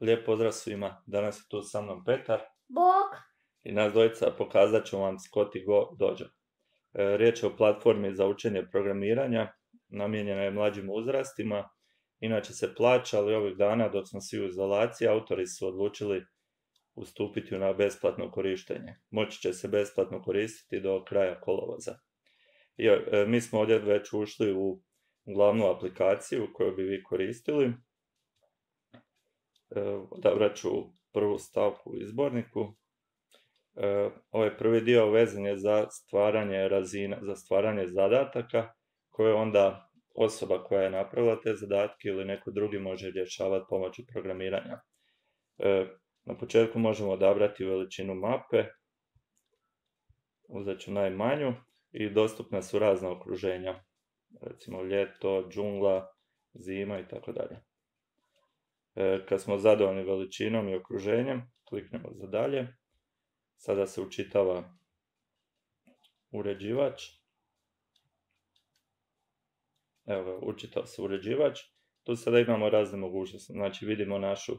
Lijep pozdrav svima, danas je tu sa mnom Petar Bog. i nas dvojica pokazat ću vam Scotty Go Dojo. Riječ je o platformi za učenje programiranja, namijenjena je mlađim uzrastima, inače se plaća, ali ovih dana dok smo svi u izolaciji, autori su odlučili ustupiti na besplatno korištenje. Moći će se besplatno koristiti do kraja kolovoza. Mi smo ovdje već ušli u glavnu aplikaciju koju bi vi koristili. Odabrat ću prvu stavku u izborniku. Ovaj prvi dio vezan je za stvaranje razina, za stvaranje zadataka koje onda osoba koja je napravila te zadatke ili neko drugi može rješavati pomoću programiranja. Na početku možemo odabrati veličinu mape, uzet ću najmanju i dostupna su razna okruženja, recimo ljeto, džungla, zima i tako dalje. Kad smo zadovoljni veličinom i okruženjem, kliknemo za dalje. Sada se učitava uređivač. Evo, učitao se uređivač. Tu sada imamo razne mogućnosti. Znači vidimo našu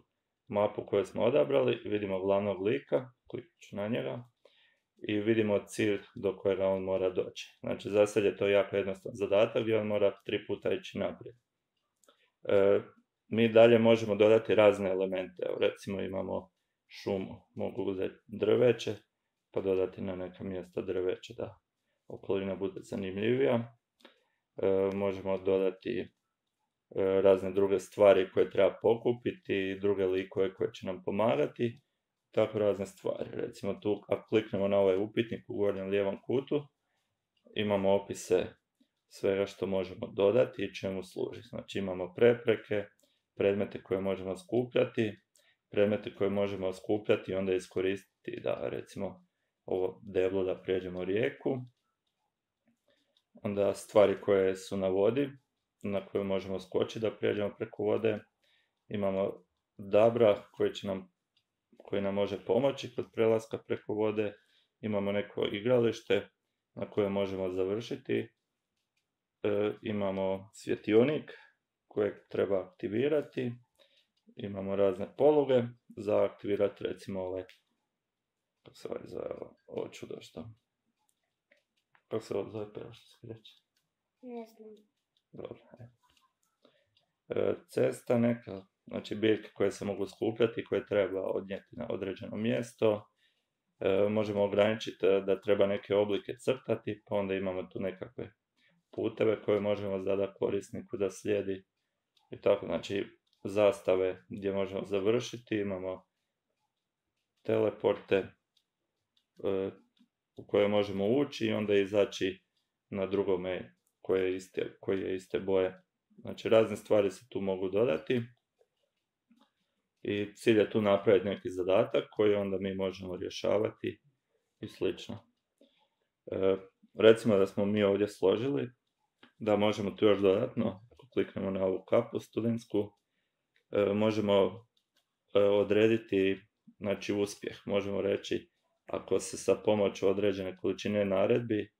mapu koju smo odabrali, vidimo glavnog lika, kliknut ću na njega i vidimo cilj do kojega on mora doći. Znači za sad je to jako jednostavan zadatak gdje on mora 3 puta ići naprijed. Mi dalje možemo dodati razne elemente. Evo, recimo imamo šumu, mogu uzeti drveće pa dodati na neka mjesta drveće da okolina bude zanimljivija. Možemo dodati razne druge stvari koje treba pokupiti, druge likove koje će nam pomagati, tako razne stvari. Recimo tu ako kliknemo na ovaj upitnik u gornjem lijevom kutu, imamo opise svega što možemo dodati i čemu služi. Znači imamo prepreke, predmete koje možemo skupljati, predmete koje možemo skupljati i onda iskoristiti da recimo ovo deblo da prijeđemo rijeku, onda stvari koje su na vodi na koje možemo skočiti da prijeđemo preko vode, imamo dabra koji nam može pomoći kod prelaska preko vode, imamo neko igralište na koje možemo završiti, imamo svjetionik kojeg treba aktivirati, imamo razne poluge za aktivirati, recimo ovaj, kako se ovaj zove, ovo čudo što? Kako se ovo zove, prvo što se reći? Ne znam. Dobro. Cesta neka, znači biljke koje se mogu skupljati, koje treba odnijeti na određeno mjesto. Možemo ograničiti da treba neke oblike crtati, pa onda imamo tu nekakve puteve koje možemo zadati korisniku da slijedi. I tako, znači zastave gdje možemo završiti, imamo teleporte u koje možemo ući i onda izaći na drugome koji je iste boje. Znači razne stvari se tu mogu dodati i cilj je tu napraviti neki zadatak koji onda mi možemo rješavati i slično. Recimo da smo mi ovdje složili, da možemo tu još dodatno, ako kliknemo na ovu kapu studentsku, možemo odrediti, znači, uspjeh. Možemo reći, ako se sa pomoću određene količine naredbi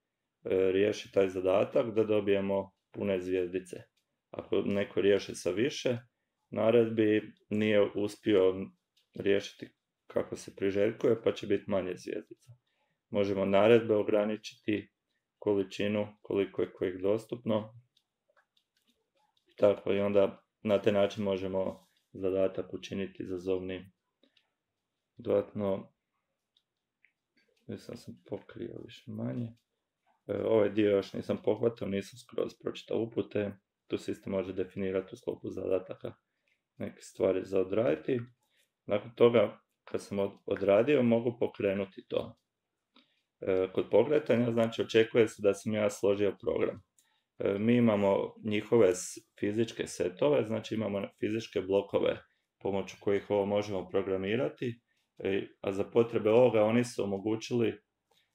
riješi taj zadatak, da dobijemo pune zvjezdice. Ako neko riješi sa više naredbi, nije uspio riješiti kako se priželjkuje, pa će biti manje zvjezdica. Možemo naredbe ograničiti, količinu, koliko je kojih dostupno. Tako, i onda na taj način možemo zadatak učiniti izazovnim. Dodatno, mislim sam pokrio više manje. Ovaj dio još nisam pohvatao, nisam skroz pročitao upute. Tu se isto može definirati u sklopu zadataka neke stvari za odraditi. Nakon toga, kad sam odradio, mogu pokrenuti to. Kod pokretanja, znači, očekuje se da sam ja složio program. Mi imamo njihove fizičke setove, znači imamo fizičke blokove pomoću kojih ovo možemo programirati, a za potrebe ovoga oni su omogućili,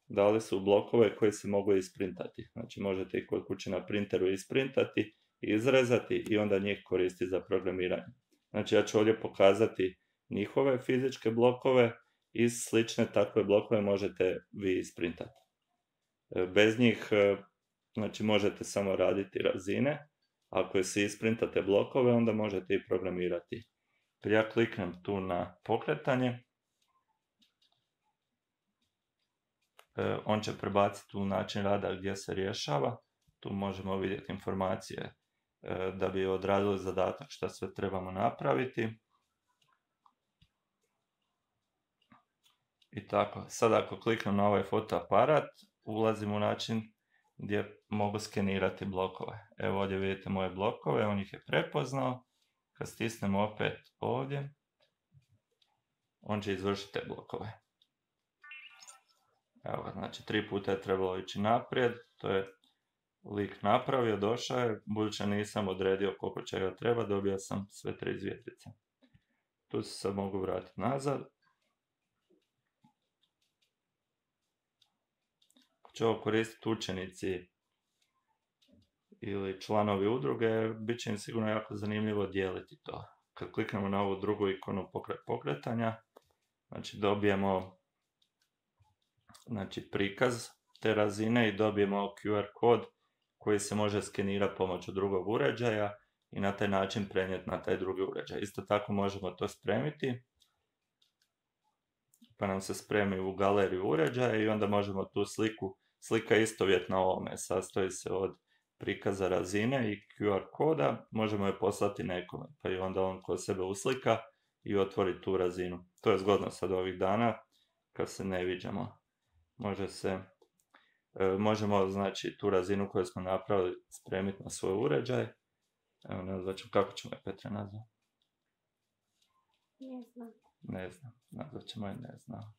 dali su blokove koji se mogu isprintati. Znači možete ih kod kuće na printeru isprintati, izrezati i onda njih koristiti za programiranje. Znači ja ću ovdje pokazati njihove fizičke blokove i slične takve blokove možete vi isprintati. Bez njih, znači, možete samo raditi razine. Ako si isprintate blokove, onda možete i programirati. Prije ja kliknem tu na pokretanje, on će prebaciti u način rada gdje se rješava. Tu možemo vidjeti informacije da bi odradili zadatak što sve trebamo napraviti. I tako, sad ako kliknem na ovaj fotoaparat, ulazim u način gdje mogu skenirati blokove. Evo ovdje vidite moje blokove, on ih je prepoznao. Kad stisnem opet ovdje, on će izvršiti te blokove. Evo, znači 3 puta je trebalo ići naprijed, to je lik napravio, došao je, budući nisam odredio koliko čega treba, dobio sam sve 3 zvjezdice. Tu se sad mogu vratiti nazad. Ako će ovo koristiti učenici ili članovi udruge, bit će im sigurno jako zanimljivo dijeliti to. Kad kliknemo na ovu drugu ikonu pokretanja, znači dobijemo prikaz te razine i dobijemo QR kod koji se može skenirati pomoću drugog uređaja i na taj način prenijeti na taj drugi uređaj. Isto tako možemo to spremiti, pa nam se spremi u galeriju uređaja i onda možemo tu slika je istovjetna ovome, sastoji se od prikaza razine i QR koda, možemo je poslati nekome, pa i onda on kod sebe uslika i otvori tu razinu. To je zgodno sad ovih dana kad se ne viđamo. Možemo znači tu razinu koju smo napravili spremiti na svoj uređaj. Evo nazvat ćemo, kako ćemo je Petra nazvati? Ne znam, nazvat ćemo je ne znam.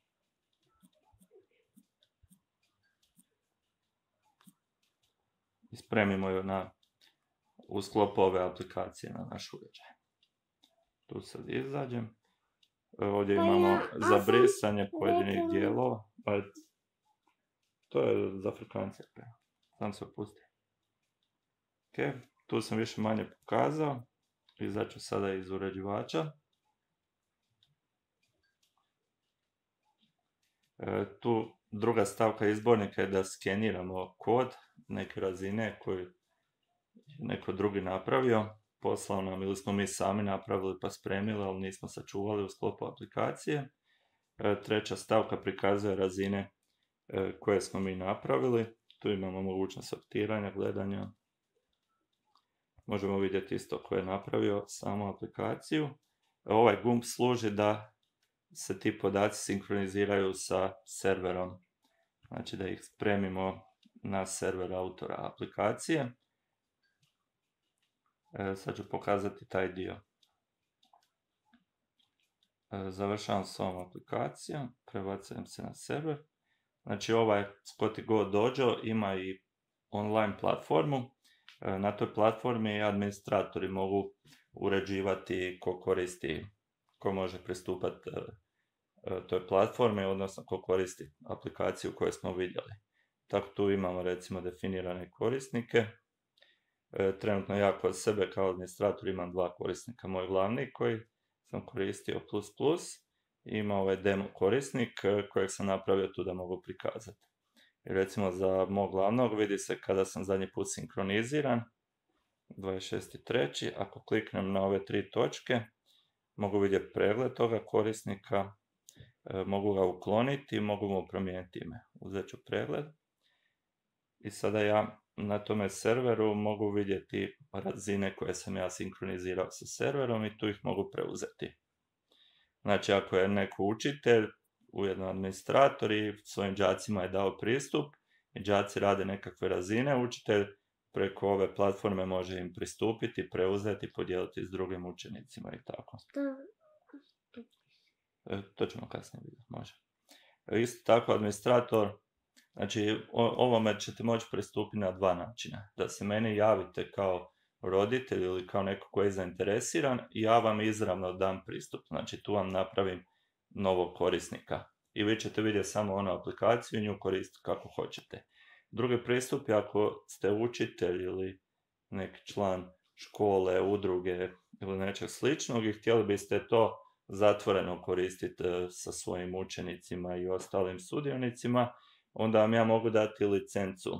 I spremimo ju u sklopu ove aplikacije na naš uređaj. Tu sad izađem. Ovdje imamo za brisanje pojedinih dijelova. To je za frekvencije. Sam se opusti. Ok, tu sam više manje pokazao. Izaću sada iz uređivača. Tu druga stavka izbornika je da skeniramo kod neke razine koju neko drugi napravio. Poslao nam ili smo mi sami napravili pa spremili, ali nismo sačuvali u sklopu aplikacije. Treća stavka prikazuje razine koje smo mi napravili. Tu imamo mogućnost sortiranja, gledanja. Možemo vidjeti isto ko je napravio samu aplikaciju. Ovaj gumb služi da se ti podaci sinkroniziraju sa serverom. Znači da ih spremimo na server autora aplikacije. Sad ću pokazati taj dio. Završavam s ovom aplikacijom, prebacujem se na server. Znači ovaj Scotty Go Dojo ima i online platformu. Na toj platformi administratori mogu uređivati ko koristi, ko može pristupati toj platformi, odnosno ko koristi aplikaciju koju smo vidjeli. Tako tu imamo recimo definirane korisnike. Trenutno ja kod sebe kao administrator imam 2 korisnika. Moj glavni koji sam koristio ++, ima ovaj demo korisnik kojeg sam napravio tu da mogu prikazati. I recimo za mog glavnog vidi se kada sam zadnji put sinkroniziran, 26.3. Ako kliknem na ove 3 točke, mogu vidjeti pregled toga korisnika, mogu ga ukloniti, mogu mu promijeniti ime. Uzet ću pregled i sada ja na tome serveru mogu vidjeti razine koje sam ja sinkronizirao sa serverom i tu ih mogu preuzeti. Znači ako je neko učitelj, ujedno administrator i svojim đacima je dao pristup i đaci rade nekakve razine, učitelj preko ove platforme može im pristupiti, preuzeti, podijeliti s drugim učenicima i tako. To ćemo kasnije vidjeti, može. Isto tako administrator, znači ovome ćete moći pristupiti na 2 načina. Da se meni javite kao roditelj ili kao neko koji je zainteresiran i ja vam izravno dam pristup. Znači tu vam napravim novog korisnika. I vi ćete vidjeti samo onu aplikaciju i nju koristiti kako hoćete. Drugi pristup je ako ste učitelj ili neki član škole, udruge ili nečeg sličnog i htjeli biste to zatvoreno koristiti sa svojim učenicima i ostalim sudionicima, onda vam ja mogu dati licencu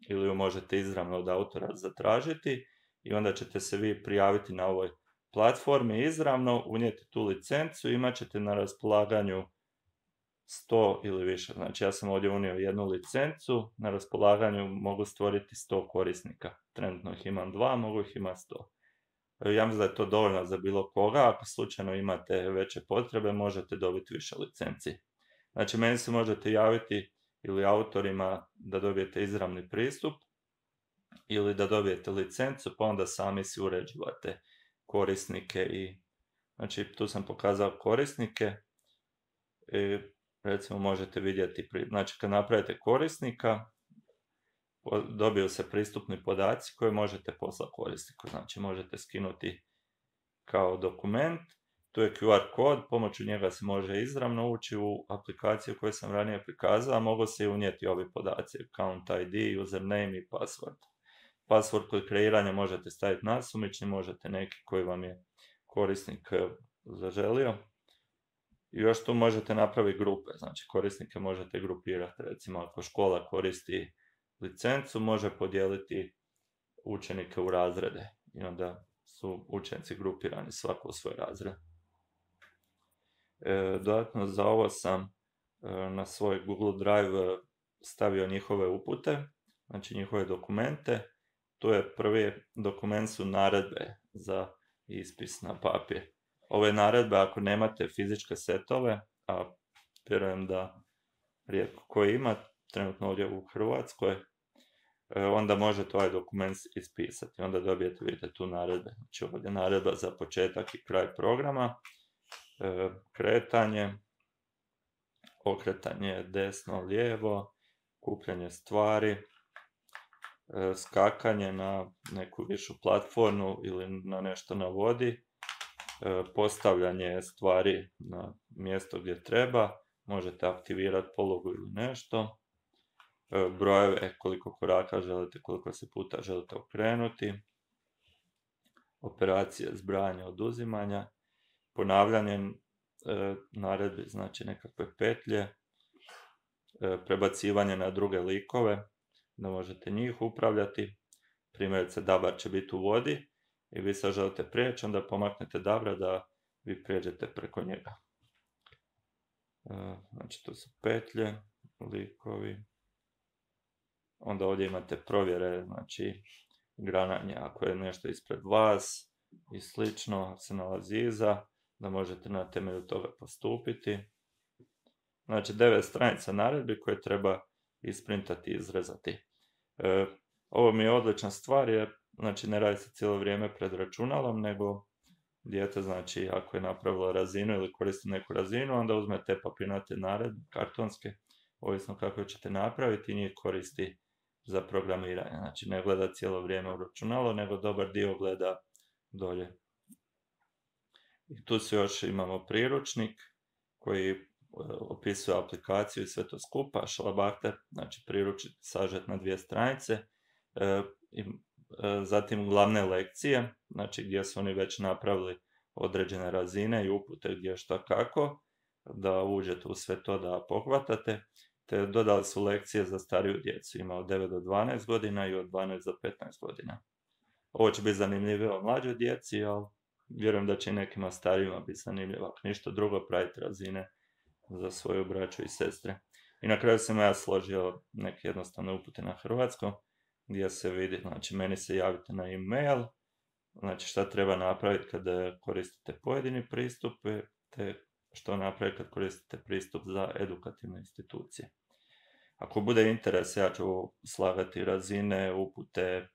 ili ju možete izravno od autora zatražiti i onda ćete se vi prijaviti na ovoj platformi izravno, unijeti tu licencu, imat ćete na raspolaganju 100 ili više. Znači ja sam ovdje unio jednu licencu, na raspolaganju mogu stvoriti 100 korisnika. Trenutno ih imam 2, mogu ih imati 100. Ja mislim da je to dovoljno za bilo koga, ako slučajno imate veće potrebe, možete dobiti više licenci. Znači meni se možete javiti ili autorima da dobijete izravni pristup, ili da dobijete licencu, pa onda sami si uređivate korisnike i znači tu sam pokazao korisnike i recimo možete vidjeti, znači kad napravite korisnika dobiju se pristupni podaci koje možete poslati korisniku, znači možete skinuti kao dokument, tu je QR kod, pomoću njega se može izravno ući u aplikaciju koju sam ranije prikazao, a mogu se i unijeti ovi podaci, account ID, username i password. Password kod kreiranja možete staviti nasumični, možete neki koji vam je korisnik zaželio. I još tu možete napraviti grupe, znači korisnike možete grupirati, recimo ako škola koristi licencu, može podijeliti učenike u razrede i onda su učenici grupirani svako u svoj razred. Dodatno za ovo sam na svoj Google Drive stavio njihove upute, znači njihove dokumente. Tu je prvi dokument su naredbe za ispis na papir. Ove naredbe ako nemate fizičke setove, a vjerujem da rijetko koji ima, trenutno ovdje u Hrvatskoj, onda možete ovaj dokument ispisati. Onda dobijete, vidite tu naredbe. Znači ovdje naredba za početak i kraj programa, kretanje, okretanje desno, lijevo, kupljanje stvari, skakanje na neku višu platformu ili na nešto na vodi, postavljanje stvari na mjesto gdje treba, možete aktivirati polugu ili nešto, brojeve koliko koraka želite, koliko se puta želite okrenuti, operacije zbrajanja, oduzimanja, ponavljanje naredbi, znači nekakve petlje, prebacivanje na druge likove, da možete njih upravljati. Primjerice, Dabar će biti u vodi i vi sad želite prijeći, onda pomaknete Dabra da vi prijeđete preko njega. Znači, to su petlje, likovi. Onda ovdje imate provjere, znači grananje, ako je nešto ispred vas i slično se nalazi iza, da možete na temelju toga postupiti. Znači 9 stranica naredbi koje treba isprintati i izrezati. Ovo mi je odlična stvar jer znači, ne radi se cijelo vrijeme pred računalom, nego dijete, znači, ako je napravilo razinu ili koristi neku razinu, onda uzmete papirnate naredbe, kartonske, ovisno kako ćete napraviti i njih koristi za programiranje. Znači, ne gleda cijelo vrijeme u računalo, nego dobar dio gleda dolje. I tu se još imamo priručnik koji opisuje aplikaciju i sve to skupa, šalabahter, znači priručnik sažet na 2 stranice, zatim glavne lekcije, znači gdje su oni već napravili određene razine i upute gdje šta kako, da uđete u sve to da pohvatate, te dodali su lekcije za stariju djecu, ima od 9 do 12 godina i od 12 do 15 godina. Ovo će biti zanimljivo mlađoj djeci, ali vjerujem da će i nekima starijima biti zanimljivo, ako ništa drugo praviti razine za svoju braću i sestre. I na kraju sam ja složio neke jednostavne upute na hrvatskom, gdje se vidi, znači meni se javite na e-mail, znači šta treba napraviti kada koristite pojedini pristup, te što napraviti kad koristite pristup za edukativne institucije. Ako bude interes, ja ću slagati razine, upute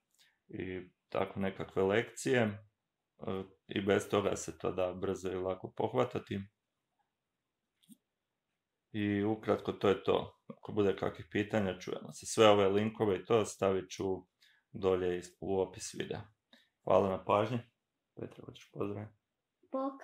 i tako nekakve lekcije i bez toga se to da brzo i lako pohvatati. I ukratko to je to. Ako bude kakvih pitanja, čujemo se. Sve ove linkove i to stavit ću dolje u opis videa. Hvala na pažnji. Petra, hoćeš pozdraviti? Bok.